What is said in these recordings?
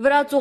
Վրաց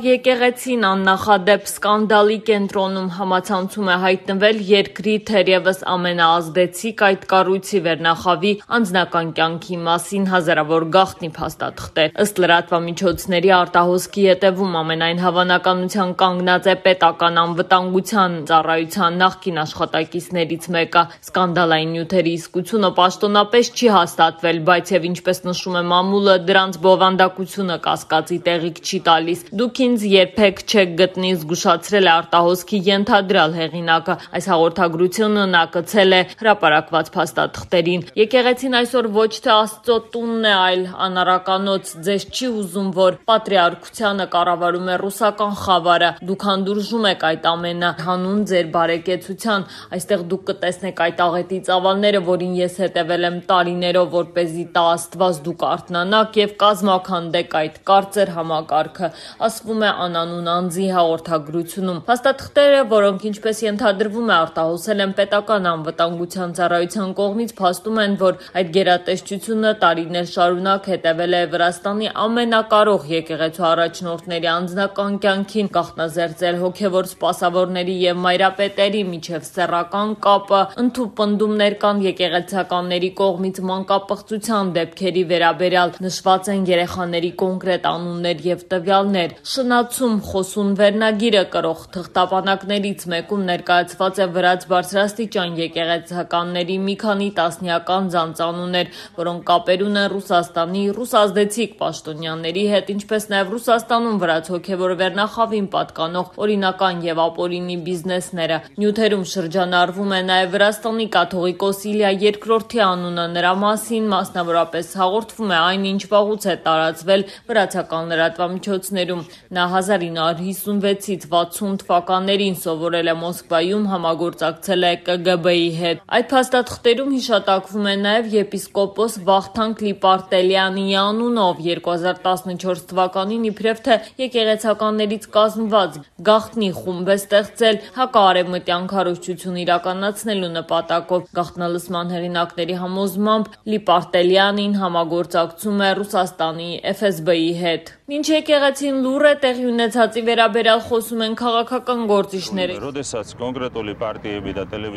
եկեղեցին աննախադեպ սկանդալի կենտրոնում համացանցում է հայտնվել երկրի թերևս ամենաազդեցիկ այդ կառույցի վերնախավի անձնական կյանքի մասին հազարավոր գաղտնի փաստաթղթեր։ Ըստ լրատվամիջոցների արտահոսքի ետևում ամենայն հավանականության կանգնած է պետական անվտանգության ծառայության նախկին աշխատակիցներից մեկը։ Սկանդալային նյութերի իսկությունը պաշտոնապես չի հաստատվել, բայց եւ ինչպես նշում է մամուլը, դրանց բովանդակությունը կասկածի տեղիք չի տալիս։ Դուք ինձ երբեք չեք գտնի, զգուշացրել է արտահոսքի ենթադրյալ հեղինակը։ Այս հաղորդագրությունը նա կցել է հրապարակված փաստաթղթերին։ Եկեղեցին այսօր ոչ թե Աստծո տունն է, այլ անառականոց։ Ձեզ չի հուզում, որ պատրիարքությանը կառավարում է ռուսական խավարը։ Դուք հանդուրժում եք այդ ամենը հանուն ձեր բարեկեցության։ Այստեղ դուք կտեսնեք այդ աղետի ծավալները, որին ես հետևել եմ տարիներով, որպեսզի տա Աստված դուք արթնանաք եւ կազմաքանդեք այդ կարծր համակարգը, ասվում է անանուն անձի հաղորդագրությունում։ Փաստաթղթերը, որոնք ինչպես ենթադրվում է արտահոսել են պետական անվտանգության ծառայության կողմից, փաստում են, որ այդ գերատեսչությունը տարիներ շարունակ հետևել է Վրաստանի ամենակարող եկեղեցու առաջնորդների անձնական կյանքին, գաղտնազերծել հոգևոր սպասավորների եւ մայրապետերի միջև սեռական կապը, ընդհուպնդումներ կան եկեղեցականների կողմից մանկապղծության դեպքերի վերաբերյալ, նշված են երեխաների կոնկրետ անուններ եւ տվյալներ։ Շնացում խոսուն վերնագիրը կրող թղթապանակներից մեկում ներկայացված է վրաց բարձրաստիճան եկեղեցականների մի քանի տասնյակ անձանց, որոնք կապեր ունեն Ռուսաստանի ռուսազդեցիկ պաշտոնյաների հետ, ինչպես նաև Ռուսաստանում վրաց հոգևոր վերնախավին պատկանող օրինական եւ ապօրինի բիզնեսները։ Նյութերում շրջանառվում է նաև Վրաստանի կաթողիկոս Իլյա II-ի անունը, նրա մասին մասնավորապես հաղորդվում է այն, ինչ վաղուց է տարածվել վրացական լրատվամիջոցներում։ Նա 1956-ից 60 թվականներին սովորել է Մոսկվայում, համագործակցել է ԿԳԲ-ի հետ։ Այդ փաստաթղթերում հիշատակվում է նաև եպիսկոպոս Վախթանգ Լիպարտելյանի անունով 2014 թվականին իբրև թե եկեղեցականներից կազմված գաղտնի խումբ է ստեղծել հակաարևմտյան քարոզչություն իրականացնելու նպատակով։ Գաղտնալսման հեղինակների համոզմամբ Լիպարտելյանին համագործակցում է Ռուսաստանի ՖՍԲ-ի հետ։ Մինչ եկեղեցին լուռ է, տեղի ունեցածի վերաբերյալ խոսում են քաղաքական գործիչները։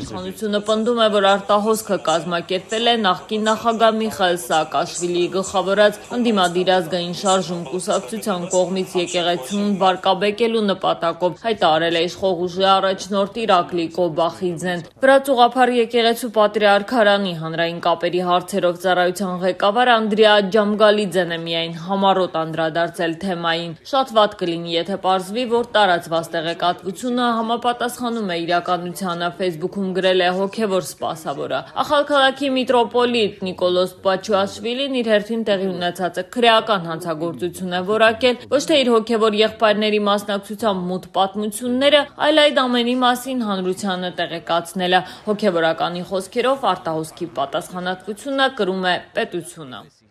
Իշխանությունը պնդում է, որ արտահոսքը կազմակերպվել է նախկին նախագահ Միխայիլ Սաակաշվիլիի գլխավորած ընդդիմադիր ազգային շարժում կուսակցության կողմից եկեղեցուն վարկաբեկելու նպատակով, հայտարարել է իշխող ուժի առաջնորդ Իրակլի Կոբախիձեն։ Վրաց ուղղափառ եկեղեցու պատրիարքարանի հանրային կապերի հարցերով ծառայության ղեկավար Անդրեա Ջամգալիձեն է միայն համառոտ անդրադարձել թեմային։ Շատ վատ կլինի, եթե պարզվի, որ տարածված տեղեկատվությունը համապատասխանում է իրականությանը, Facebook-ում գրել է հոգևոր սպասավորը։ Ախալքալաքի միտրոպոլիտ Նիկոլոս Պաչուաշվիլին իր հերթին տեղի ունեցածը քրեական հանցագործություն է որակել, ոչ թե իր հոգևոր եղբայրների մասնակցությամբ մութ պատմությունները, այլ այդ ամենի մասին հանրությանը տեղեկացնելը։ Հոգևորականի խոսքերով արտահոսքի պատասխանատվությունը կրում է պետությունը։